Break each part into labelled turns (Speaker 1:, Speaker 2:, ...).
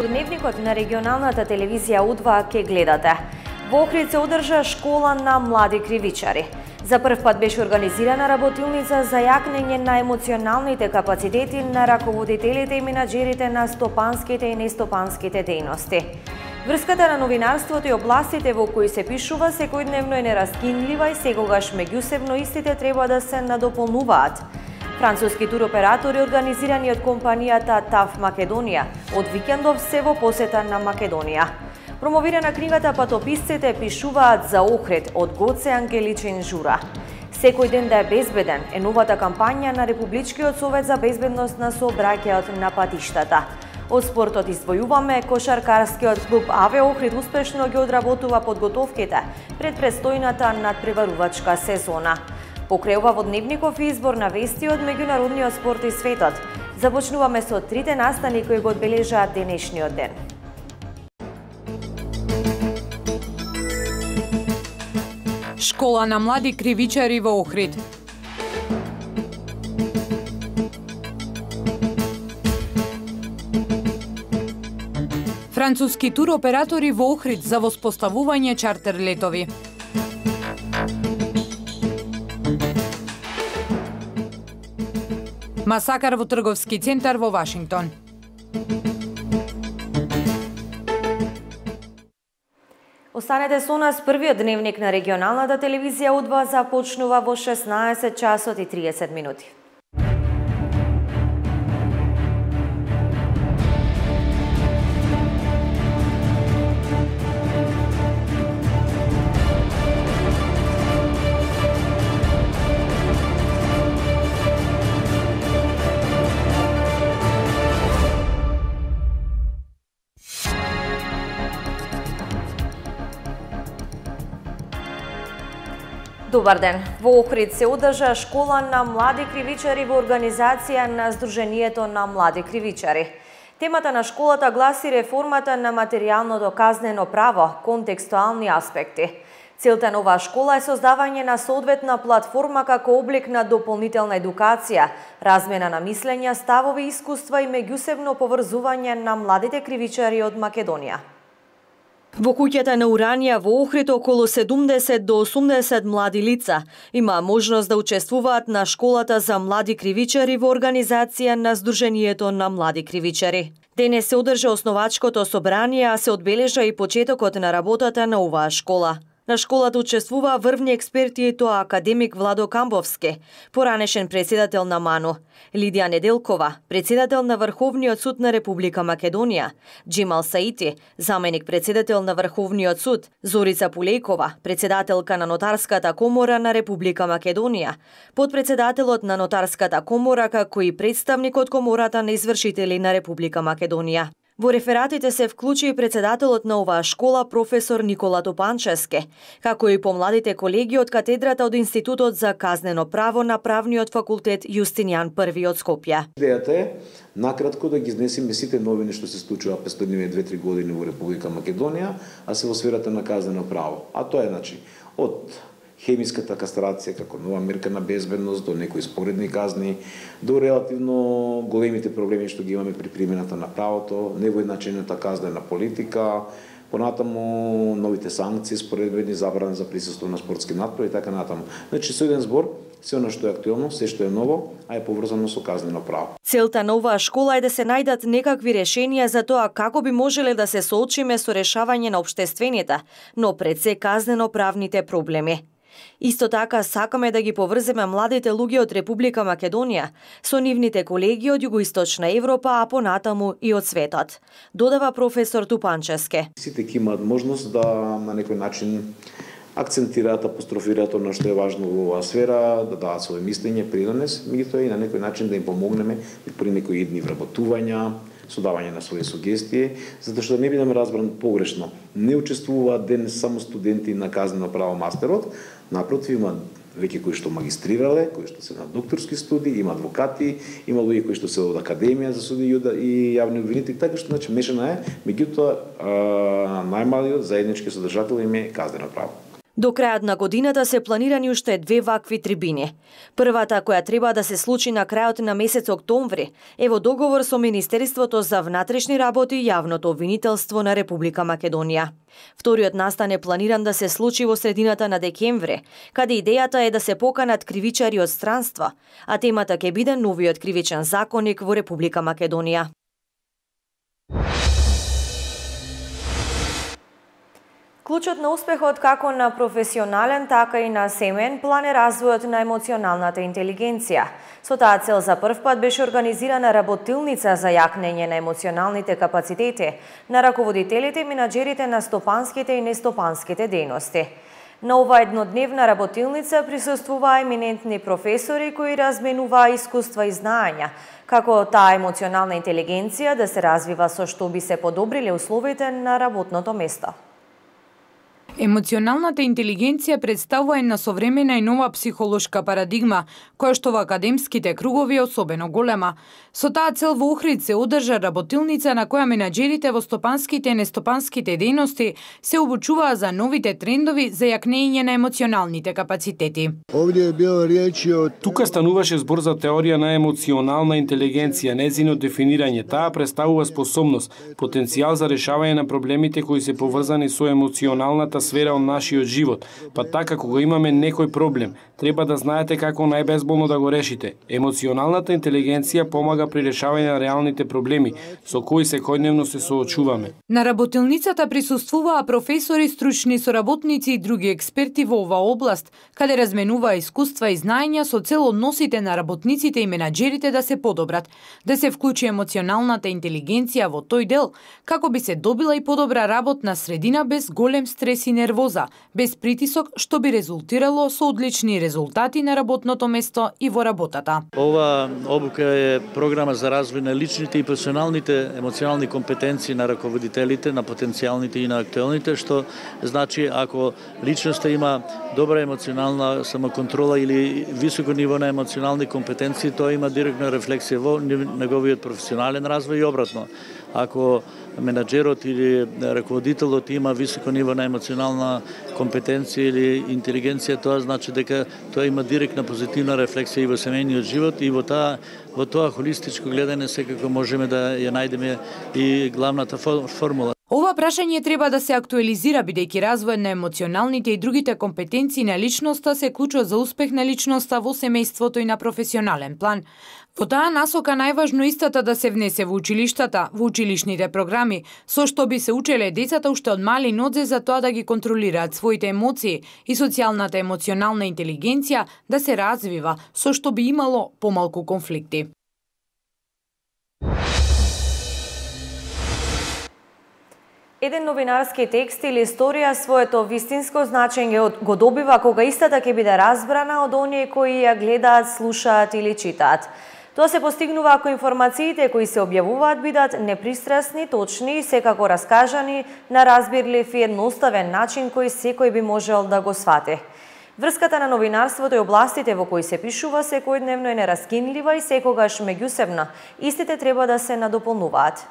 Speaker 1: Во дневникот на регионалната телевизија У2 ке гледате. Во Охрид се одржа школа на млади кривичари. За прв пат беше организирана работилница за јакнење на емоционалните капацитети на раководителите и менаџерите на стопанските и нестопанските дејности. Врската на новинарството и областите во кои се пишува секојдневно е нераскинлива и секогаш меѓусебно истите треба да се надополнуваат. Француски туроператори, организирани од компанијата ТАФ Македонија, од викендов се во посета на Македонија. Промовирана книгата Патописците пишуваат за Охрид од Гоце Ангеличин Жура. Секој ден да е безбеден е новата кампања на Републичкиот совет за безбедност на сообраќајот на патиштата. Од спортот издвојуваме кошаркарскиот клуб АВЕ Охрид успешно ги одработува подготовките пред престојната надпреварувачка сезона. Покрај ова во дневников избор на вести од меѓународниот спорт и светот. Започнуваме со трите настани кои го одбележаат денешниот ден.
Speaker 2: Школа на млади кривичари во Охрид. Француски туроператори во Охрид за воспоставување чартер летови. Масакар во трговски центар во Вашингтон.
Speaker 1: Останете со нас, првиот дневник на регионалната телевизија У2 започнува во 16 часот и 30 минути. Добар ден. Во Охрид се одржа школа на млади кривичари во организација на Сдруженијето на млади кривичари. Темата на школата гласи реформата на материјалното казнено право, контекстуални аспекти. Целта на оваа школа е создавање на соодветна платформа како облик на дополнителна едукација, размена на мислења, ставови, искуства и меѓусебно поврзување на младите кривичари од Македонија. Во куќата на Уранија во Охрид околу 70 до 80 млади лица има можност да учествуваат на школата за млади кривичари во организација на Сдруженијето на млади кривичари. Денес се одржа основачкото собрание, а се одбележа и почетокот на работата на оваа школа. На школата учествува врвни експерти и тоа академик Владо Камбовски, поранешен председател на МАНУ, Лидија Неделкова, председател на Врховниот суд на Република Македонија, Джимал Саити, заменик председател на Врховниот суд, Зорица Пулејкова, председателка на Нотарската комора на Република Македонија, подпредседателот на Нотарската комора како и представник од Комората на извршители на Република Македонија. Во рефератите се вклучи и председателот на оваа школа професор Никола Топанчевски, како и помладите колеги од катедрата од Институтот за казнено право на Правниот факултет Јустинијан I од Скопје.
Speaker 3: Идејата е накратко да ги изнесеме сите новини што се случува последниве 2-3 години во Република Македонија, а се во сферата на казнено право. А тоа е од хемиската кастрација како нова мерка на безбедност, до некои споредни казни, до релативно големите проблеми што ги имаме при примената на правото, невоедначената казнена политика, понатаму новите санкции, споредбени забрана за присуство на спортски натпрев и така натаму. Значи, со еден збор, се она што е актуелно, се што е ново, а е поврзано со казнено право.
Speaker 1: Целта на оваа школа е да се најдат некакви решенија за тоа како би можеле да се соочиме со решавање на општествените, но пред се казнено правните проблеми. Исто така сакаме да ги поврземе младите луѓе од Република Македонија со нивните колеги од Југоисточна Европа, а понатаму и од светот, додава професор Тупанчевски.
Speaker 3: Сите ќе имаат можност да на некој начин акцентираат, апострофираат она што е важно во оваа сфера, да дадат своје мислење, придонес, меѓутоа и на некој начин да им помогнеме при некои едни вработувања, со давање на своји сугестии, затоа што не бидеме разбран погрешно. Не учествуваат денес само студенти на казнено право мастерот, напротив има веќе кои што магистрирале, кои што се на докторски студии, има адвокати, има луѓе кои што се од Академија за суди и јавни обвинители, така што мешана е, меѓутоа најмалиот заеднички содржател им е казнено право.
Speaker 1: До крајот на годината се планирани уште 2 вакви трибини. Првата, која треба да се случи на крајот на месец октомври, е во договор со Министерството за внатрешни работи и јавното обвинителство на Република Македонија. Вториот настан е планиран да се случи во средината на декември, каде идејата е да се поканат кривичари од странства, а темата ќе биде новиот кривичен законник во Република Македонија. Клучот на успехот како на професионален, така и на семеен план е развојот на емоционалната интелигенција. Со таа цел за прв пат беше организирана работилница за јакнење на емоционалните капацитети на раководителите и менаџерите на стопанските и нестопанските дејности. На оваа еднодневна работилница присуствуваа еминентни професори кои разменуваа искуства и знаења, како таа емоционална интелигенција да се развива со што би се подобриле условите на работното место.
Speaker 2: Емоционалната интелигенција представува една современа и нова психолошка парадигма, која што во академските кругови е особено голема. Со таа цел во Охрид се одржа работилница на која менаџерите во стопанските и нестопанските дејности се обучуваа за новите трендови за јакнење на емоционалните капацитети.
Speaker 4: Тука стануваше збор за теорија на емоционална интелигенција, нејзино дефинирање. Таа представува способност, потенцијал за решавање на проблемите кои се поврзани со емоционалната сфера од нашиот живот. Па така, кога имаме некој проблем, треба да знаете како најбезболно да го решите. Емоционалната интелигенција помага при решавање на реалните проблеми со кои секојдневно се соочуваме.
Speaker 2: На работилницата присуствуваа професори, стручни соработници и други експерти во оваа област, каде разменуваа искуства и знаења со цел односите на работниците и менаџерите да се подобрат, да се вклучи емоционалната интелигенција во тој дел, како би се добила и подобра работна средина без голем стрес и нервоза, без притисок, што би резултирало со одлични резултати на работното место и во работата.
Speaker 5: Ова обука е програма за развој на личните и професионалните емоционални компетенции на раководителите, на потенцијалните и на актуелните, што значи ако личноста има добра емоционална самоконтрола или високо ниво на емоционални компетенции, тоа има директна рефлексија во неговиот професионален развој и обратно. Ако менаџерот или раководителот има високо ниво на емоционална компетенција или интелигенција, тоа значи дека тоа има директна позитивна рефлексија и во семејниот живот и во тоа холистичко гледање секако можеме да ја најдеме и главната формула.
Speaker 2: Ова прашање треба да се актуализира, бидејќи развојот на емоционалните и другите компетенции на личноста се клучот за успех на личноста во семејството и на професионален план. Во таа насока најважно истата да се внесе во училиштата, во училишните програми, со што би се учеле децата уште од мали нозе за тоа да ги контролираат своите емоции и социјалната емоционална интелигенција да се развива, со што би имало помалку конфликти.
Speaker 1: Еден новинарски текст или историја своето вистинско значење го добива кога истата ќе биде разбрана од оние кои ја гледаат, слушаат или читаат. Тоа се постигнува ако информациите кои се објавуваат бидат непристрасни, точни и секако раскажани на разбирлив и едноставен начин кој секој би можел да го свати. Врската на новинарството и областите во кои се пишува секојдневно е нераскинлива и секогаш меѓусебна. Истите треба да се надополнуваат.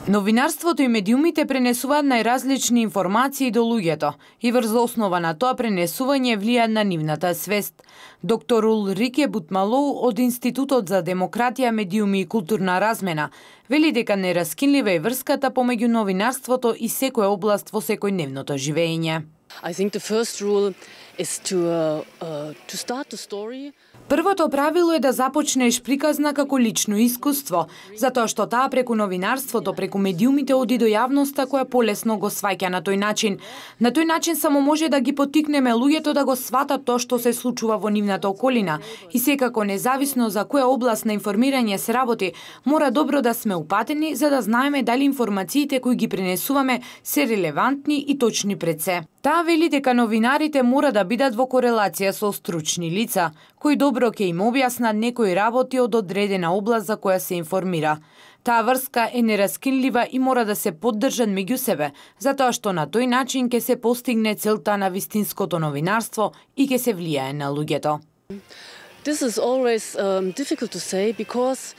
Speaker 2: Новинарството и медиумите пренесуваат најразлични информации до луѓето и врз основа на тоа пренесување влијаат на нивната свест. Доктор Улрике Бутмалоу од Институтот за демократија, медиуми и културна размена вели дека нераскинлива е врската помеѓу новинарството и секоја област во секојдневното живење.
Speaker 6: I think the first rule is to start the story.
Speaker 2: Првото правило е да започнеш приказна како лично искуство, затоа што таа преку новинарството, преку медиумите оди до јавноста која полесно го сваќа на тој начин. На тој начин само може да ги поттикнеме луѓето да го сватат тоа што се случува во нивната околина и секако независно за која област на информирање се работи, мора добро да сме упатени за да знаеме дали информациите кои ги пренесуваме се релевантни и точни пред се. Таа вели дека новинарите мора да бидат во корелација со стручни лица, кои добро ќе им објаснат некои работи од одредена област за која се информира. Таа врска е нераскинлива и мора да се поддржат меѓу себе, затоа што на тој начин ќе се постигне целта на вистинското новинарство и ќе се влијае на луѓето.
Speaker 6: This is always difficult to say because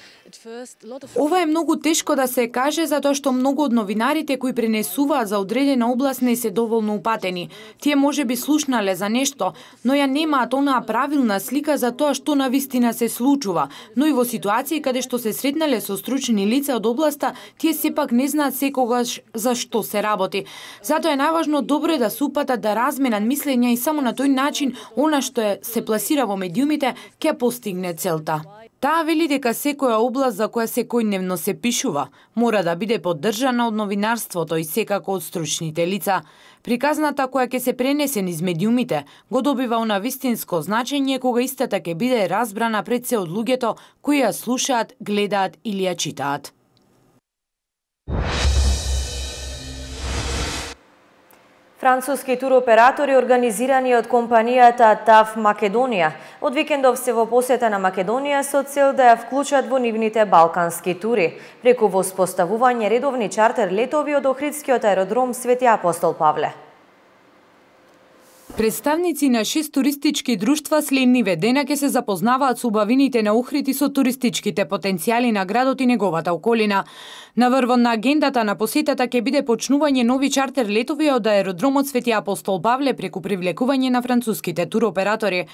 Speaker 2: Ова е многу тешко да се каже затоа што многу од новинарите кои пренесуваат за одредена област не се доволно упатени. Тие можеби слушнале за нешто, но ја немаат онаа правилна слика за тоа што навистина се случува, но и во ситуации каде што се сретнале со стручни лица од областа, тие сепак не знаат секогаш за што се работи. Затоа е најважно добро е да се упатат да разменат мислења и само на тој начин она што се пласира во медиумите ќе постигне целта. Таа вели дека секоја област за која секојдневно се пишува мора да биде поддржана од новинарството и секако од стручните лица. Приказната која ќе се пренесе низ медиумите го добива она вистинско значење кога истата ќе биде разбрана пред се од луѓето кои ја слушаат, гледаат или ја читаат.
Speaker 1: Француски туроператори организирани од компанијата ТАФ Македонија од викендов се во посета на Македонија со цел да ја вклучат во нивните балкански тури, преку воспоставување редовни чартер летови од Охридскиот аеродром Свети Апостол Павле.
Speaker 2: Представници на 6 туристички друштва следниве дена ќе се запознаваат со убавините на Охрид и со туристичките потенцијали на градот и неговата околина. На врвот на агендата на посетата ќе биде почнување нови чартер летови од аеродромот Свети Апостол Павле преку привлекување на француските туроператори.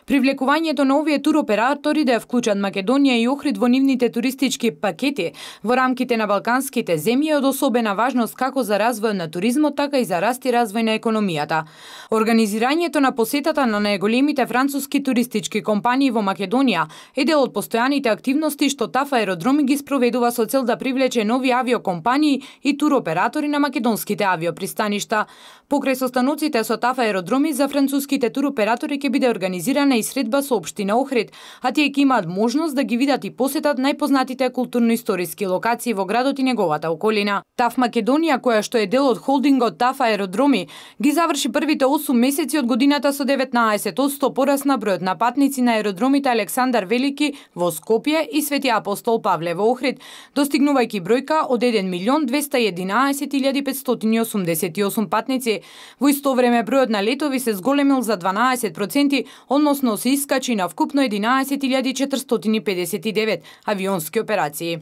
Speaker 2: Привлекувањето на овие туроператори да ја вклучат Македонија и Охрид во нивните туристички пакети во рамките на балканските земји е од особена важност како за развој на туризмот, така и за раст и развој на економијата. Организирањето на посетата на најголемите француски туристички компании во Македонија е дел од постојаните активности што ТАФ аеродроми ги спроведува со цел да привлече нови авиокомпании и туроператори на македонските авиопристаништа. Покрај состаноците со ТАФ аеродроми за француските туроператори ќе биде организирана и средба со општина Охрид, а тие ќе имаат можност да ги видат и посетат најпознатите културно-историски локации во градот и неговата околина. ТАФ Македонија, која што е дел од холдингот ТАФ аеродроми, ги заврши првите 8 месеци од годината со 19% порасна бројот на патници на аеродромите Александар Велики во Скопје и Свети Апостол Павле во Охрид, достигнувајќи бројка од 1.211.588 патници. Во исто време бројот на летови се зголемил за 12%, односно се искачи на вкупно 11.459 авионски операции.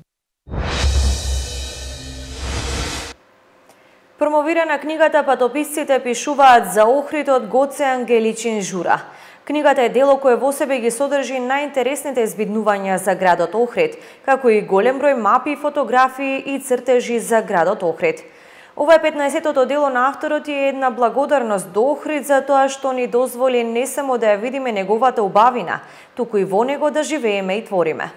Speaker 1: Промовирана книгата Патописците пишуваат за Охрид од Гоце Ангеличин Жура. Книгата е дело кое во себе ги содржи најинтересните збиднувања за градот Охрид, како и голем број мапи, фотографии и цртежи за градот Охрид. Ова е 15-тото дело на авторот и е една благодарност до Охрид за тоа што ни дозволи не само да ја видиме неговата убавина, туку и во него да живееме и твориме.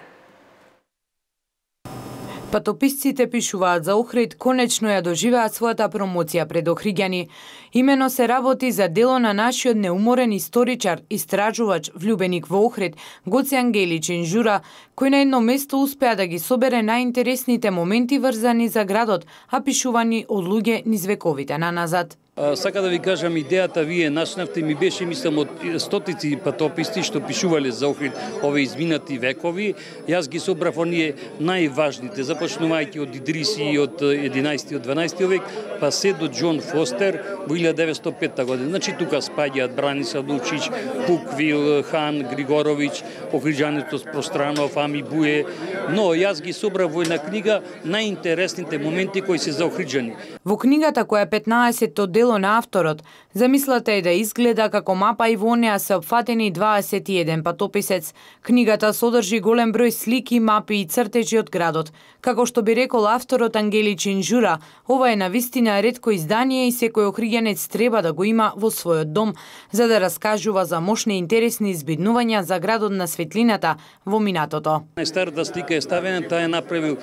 Speaker 2: Патописците пишуваат за Охрид конечно ја доживеат својата промоција пред охриѓани. Имено се работи за дело на нашиот неуморен историчар, истражувач, влюбеник во Охрид, Гоце Ангеличин Жура, кој на едно место успеа да ги собере најинтересните моменти врзани за градот, а пишувани од луѓе низ вековите наназад.
Speaker 7: Сака да ви кажам, идејата вие начнавте ми беше, мислам, од стотици патописти што пишувале за Охрид овие изминати векови. Јас ги собрав оние најважните, започнувајќи од Идриси од 11 и од 12 век, па се до Џон Фостер во 1905 година. Значи тука спаѓаат Бранислав Лучич, Пуквил, Хан Григоровиќ, Охриджането Пространов, Ами Буе, но јас ги собрав во една книга најинтересните моменти кои се за охриджани.
Speaker 2: Во книгата која е 15-то дело на авторот, замислата е да изгледа како мапа и во неа се опфатени 21 патописец. Книгата содржи голем број слики, мапи и цртежи од градот. Како што би рекол авторот Ангеличин Жура, ова е навистина ретко издание и секој охриѓанец треба да го има во својот дом, за да раскажува за мощни и интересни избиднувања за градот на светлината во минатото.
Speaker 7: Најстарата слика е ставена, таа е направил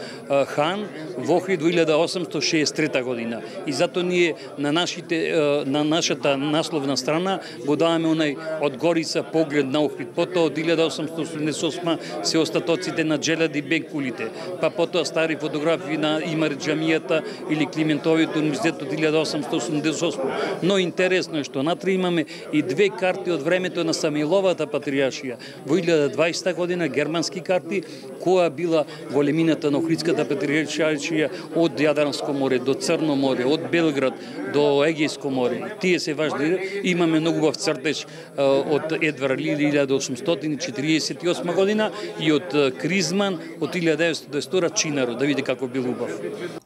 Speaker 7: Хан во Охрид во 1863 година. И затоа ние на нашата насловна страна го даваме онај од Горица поглед на Охрид. Потоа од 1888 се остатоците на Джелади Бенкулите, па потоа стари фотографии на Имар џамијата или Климентовиот универзитет од 1888. Но интересно е што натре имаме и две карти од времето на Самуиловата патријаршија. Во 1020 година германски карти која била големината на Охридската патријаршија од Јадранско море до Црно море, од Белград до Егејско море. Тие се важни. Имаме многу убав цртеж од Едвар Лили 1848 година и од Кризман од 1922 Чинаро, да види како бил убав.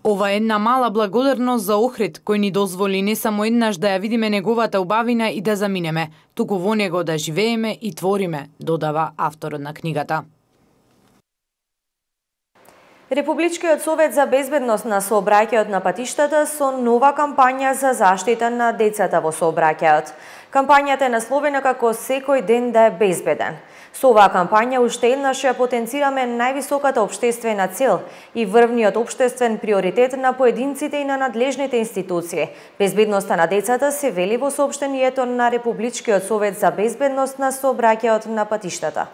Speaker 2: Ова е една мала благодарност за Охрид, кој ни дозволи не само еднаш да ја видиме неговата убавина и да заминеме, туку во него да живееме и твориме, додава авторот на книгата.
Speaker 1: Републичкиот совет за безбедност на сообраќајот на патиштата со нова кампања за заштита на децата во сообраќајот. Кампањата е насловена како секој ден да е безбеден. Со оваа кампања уште еднаш ја потенцираме највисоката општествена цел и врвниот општествен приоритет на поединците и на надлежните институции. Безбедноста на децата се вели во соопштението на Републичкиот совет за безбедност на сообраќајот на патиштата.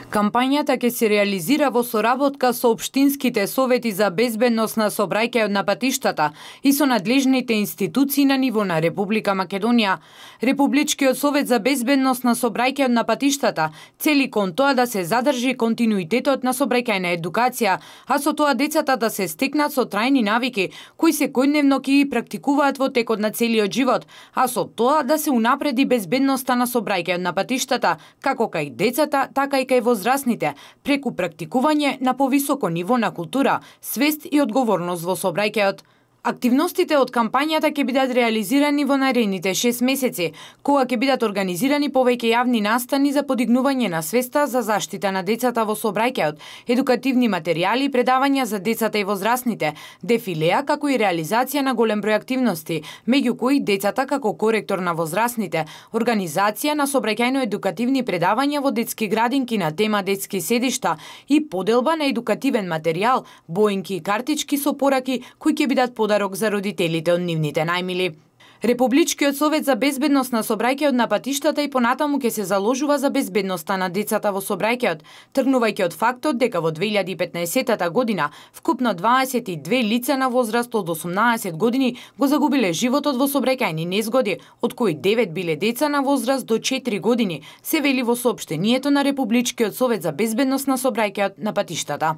Speaker 2: Кампањата ќе се реализира во соработка со општинските совети за безбедност на сообраќајот на патиштата и со надлежните институции на ниво на Република Македонија. Републичкиот совет за безбедност на сообраќајот на патиштата цели кон тоа да се задржи континуитетот на сообраќајна едукација, а со тоа децата да се стекнат со трајни навики кои секојдневно ќе ги практикуваат во текот на целиот живот, а со тоа да се унапреди безбедноста на сообраќајот на патиштата, како кај децата, така и кај возрастните, преку практикување на повисоко ниво на култура, свест и одговорност во сообраќајот. Активностите од кампањата ќе бидат реализирани во наредните 6 месеци, кога ќе бидат организирани повеќе јавни настани за подигнување на свеста за заштита на децата во сообраќајот, едукативни материјали и предавања за децата и возрастните, дефилеа како и реализација на голем број активности, меѓу кои децата како коректор на возрастните, организација на сообраќајно-едукативни предавања во детски градинки на тема детски седишта и поделба на едукативен материјал, боинки и картички со пораки кои ќе бидат подарок за родителите од нивните најмили. Републичкиот совет за безбедност на сообраќајот на патиштата и понатаму ќе се заложува за безбедноста на децата во сообраќајот, тргнувајќи од фактот дека во 2015 година вкупно 22 лица на возраст од 18 години го загубиле животот во сообраќајни незгоди, од кои 9 биле деца на возраст до 4 години, се вели во соопштението на Републичкиот совет за безбедност на сообраќајот на патиштата.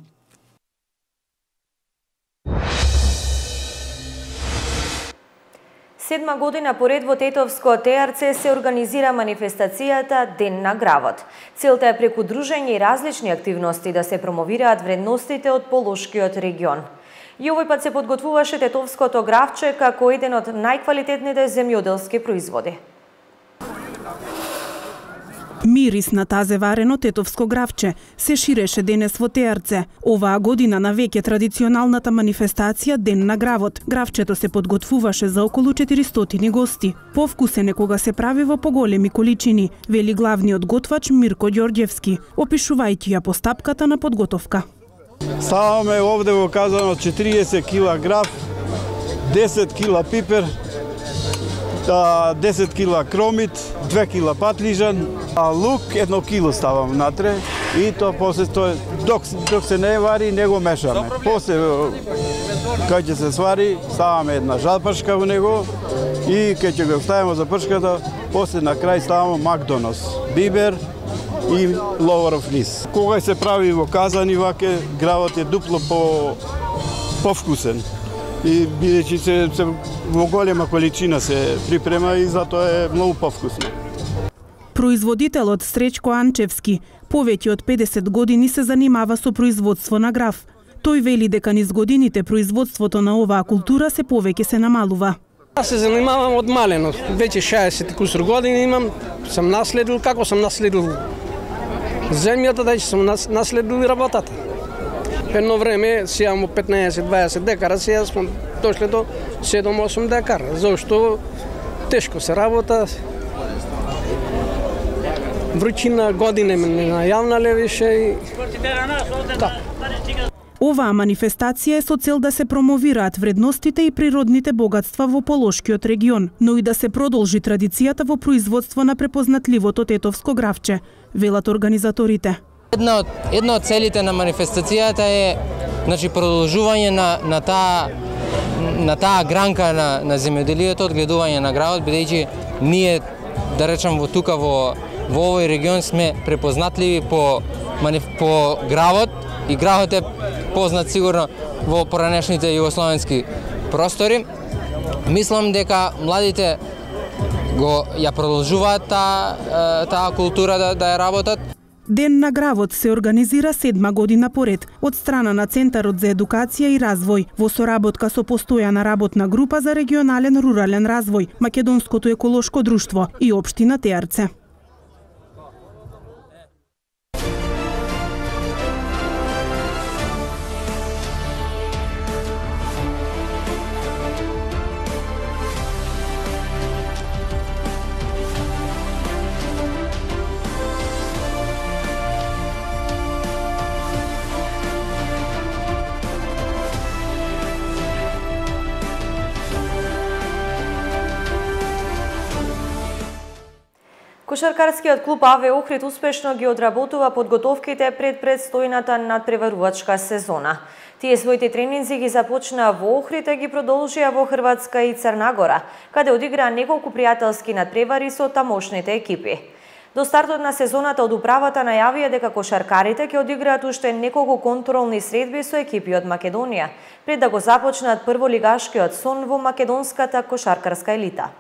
Speaker 1: Седма година поред во Тетовско ТРЦ се организира манифестацијата Ден на гравот. Целта е преку дружење и различни активности да се промовираат вредностите од Полошкиот регион. И овој пат се подготвуваше тетовското гравче како еден од најквалитетните земјоделски производи.
Speaker 8: Мирис на тазеварено тетовско гравче се ширеше денес во ТРЦ. Оваа година на веќе традиционалната манифестација Ден на гравот. Гравчето се подготвуваше за околу 400 гости. Повкусен е кога се прави во поголеми количини, вели главниот готвач Мирко Ѓорѓевски, опишувајќи ја постапката на подготовка.
Speaker 9: Ставаме овде во казано 40 кила грав, 10 кила пипер, 10 кила кромит, 2 кила патлижан, а лук 1 кило ставам натре и тоа после тоа док се не вари, не го мешаме. После кога ќе се свари, ставаме една жалпашка во него и кога ќе го ставиме за пршката, после на крај ставаме макдонос, бибер и ловаров лист. Кога се прави во казани ваке, гравот е дупло повкусен. И бидејќи се во голема количина се припрема и затоа е многу повкусно.
Speaker 8: Производителот Сречко Анчевски повеќе од 50 години се занимава со производство на грав. Тој вели дека низ годините производството на оваа култура се повеќе се намалува.
Speaker 10: Аз се занимавам од малено, веќе 60 кусур години имам, сам наследил како сам наследил земјата, да сум наследил и работата. Едно време си имам 15-20 декара, сега сме дошли до 7-8 декара, зашто тешко се работа. Вручина година на јавна левише и така.
Speaker 8: Оваа манифестација е со цел да се промовираат вредностите и природните богатства во Полошкиот регион, но и да се продолжи традицијата во производство на препознатливото тетовско гравче, велат организаторите.
Speaker 11: Една од целите на манифестацијата е продолжување на таа гранка на земјоделието, одгледување на гравот, бидејќи ние, да речам, во овој регион сме препознатливи по гравот и гравот е познат сигурно во поранешните југословенски простори Мислам дека младите ја продолжуваат таа култура да ја работат.
Speaker 8: Ден на гравот се организира 7 година поред од страна на Центарот за едукација и развој во соработка со постојана работна група за регионален рурален развој, Македонското еколошко друштво и општина Теарце.
Speaker 1: Кошаркарскиот клуб АВ Охрид успешно ги одработува подготовките пред предстојната надпреварувачка сезона. Тие своите тренинзи ги започнаа во Охрид и ги продолжија во Хрватска и Црна Гора, каде одиграа неколку пријателски надпревари со тамошните екипи. До стартот на сезоната од управата најавија дека кошаркарите ќе одиграат уште неколку контролни средби со екипи од Македонија, пред да го започнат прволигашкиот сон во македонската кошаркарска елита.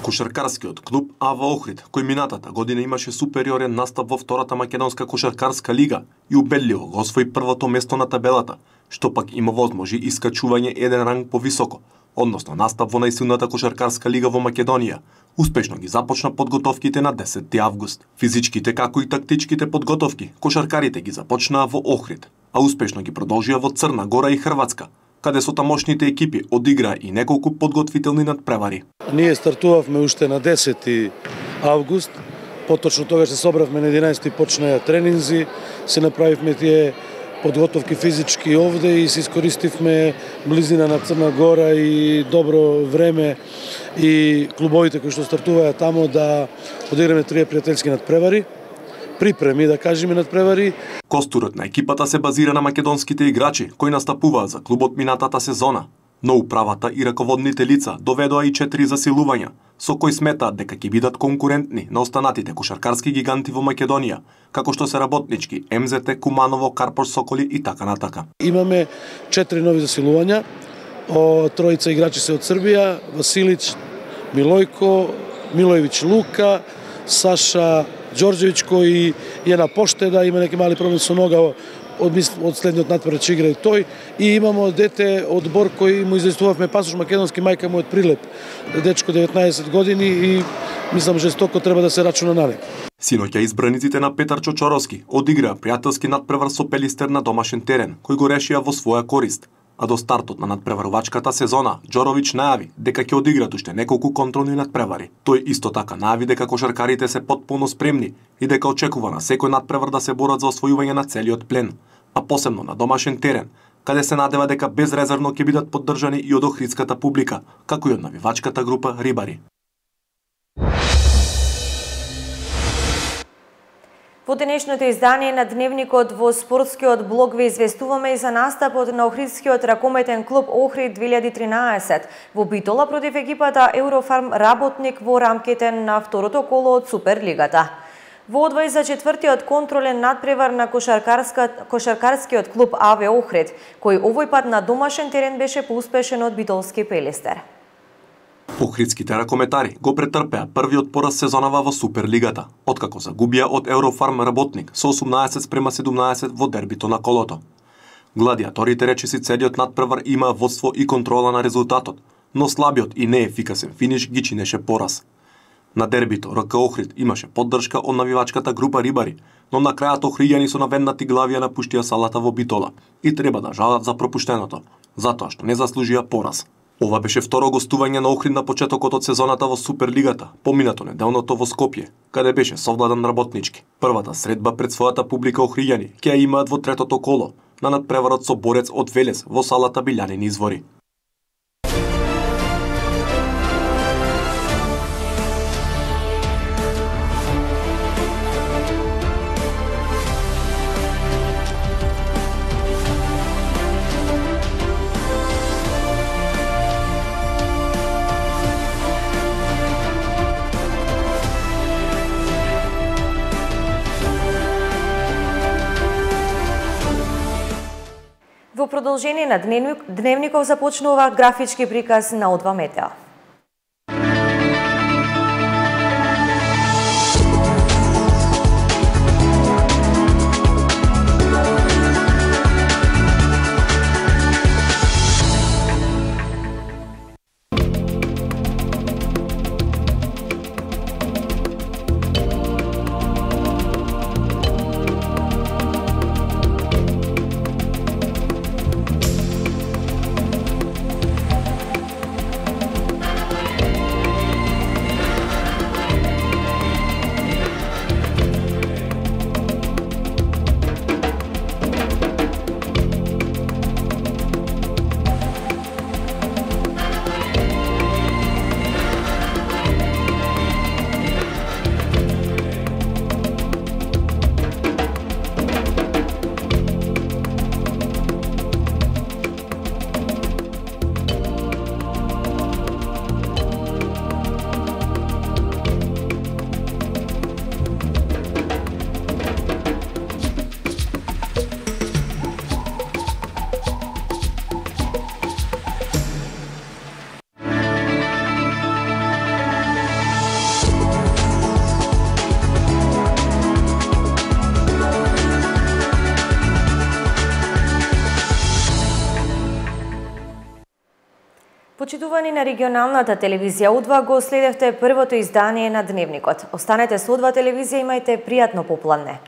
Speaker 12: Кошаркарскиот клуб АВ Охрид, кој минатата година имаше супериорен настап во втората македонска кошаркарска лига и убедливо го освои првото место на табелата, што пак има возможи искачување еден ранг повисоко, односно настап во најсилната кошаркарска лига во Македонија. Успешно ги започна подготовките на 10 август. Физичките како и тактичките подготовки кошаркарите ги започнаа во Охрид, а успешно ги продолжија во Црна Гора и Хрватска, каде со тамошните екипи одиграа и неколку подготвителни надпревари.
Speaker 13: Ние стартувавме уште на 10 август, поточно тогаш се собравме на 11 почнаа тренинзи, се направивме тие подготовки физички овде и се искористивме близина на Црна Гора и добро време и клубовите кои што стартуваа тамо да одиграме 3 пријателски надпревари. Припреми, да кажеме, надпревари.
Speaker 12: Костурот на екипата се базира на македонските играчи кои настапуваат за клубот минатата сезона, но управата и раководните лица доведоа и 4 засилувања, со кои сметаат дека ќе бидат конкурентни на останатите кошаркарски гиганти во Македонија, како што се Работнички, МЗТ, Куманово, Карпош, Соколи и така натака.
Speaker 13: Имаме 4 нови засилувања, тројца играчи се од Србија, Василич, Милојко, Милојевич Лука, Саша Ѓорđević кој е на поштеда, има неки мали проблем со нога од следниот надпревар че игра и тој, и имамо дете од Бор кој му издействувавме пасош македонски, мајка му од Прилеп, дечко 19 години и мислам жестоко треба да се рачуна на него.
Speaker 12: Синоќа избраниците на Петар Чочоровски одиграа пријателски надпревар со Пелистер на домашен терен, кој го решија во своја корист. А до стартот на надпреварувачката сезона, Ѓоровиќ најави дека ќе одиграат уште неколку контролни надпревари. Тој исто така најави дека кошаркарите се потполно спремни и дека очекува на секој надпревар да се борат за освојување на целиот плен, а посебно на домашен терен, каде се надева дека безрезервно ќе бидат поддржани и од охридската публика, како и од навивачката група Рибари.
Speaker 1: Во денешното издание на Дневникот во спортскиот блог ве известуваме и за настапот на Охридскиот ракометен клуб Охрид 2013 во битола против екипата Еврофарм Работник во рамките на второто коло од Суперлигата. Во одвој за четвртиот контролен надпревар на кошаркарскиот клуб АВ Охрид, кој овој пат на домашен терен беше поуспешен од битолски Пелистер.
Speaker 12: Охридските ракометари го претрпеа првиот пораз сезонава во Суперлигата, откако загубија од Еврофарм Работник со 18-17 во дербито на колото. Гладиаторите речиси целиот надпревар имаа водство и контрола на резултатот, но слабиот и неефикасен финиш ги чинеше пораз. На дербито РК Охрид имаше поддршка од навивачката група Рибари, но на крајот охријани со наведнати глави ја напуштија салата во битола и треба да жалат за пропуштеното, затоа што не заслужија пораз. Ова беше второ гостување на Охрид на почетокот од сезоната во Суперлигата, поминато неделното во Скопје, каде беше совладан Работнички. Првата средба пред својата публика охријани ќе ја имаат во третото коло, на надпреварот со Борец од Велес во салата Билјанин извори.
Speaker 1: Во во продолжение на Дневников започнува графички приказ на О2 Метео. Почитувани на регионалната телевизија О2, го следевте првото издание на Дневникот. Останете со О2 телевизија, имајте пријатно попладне.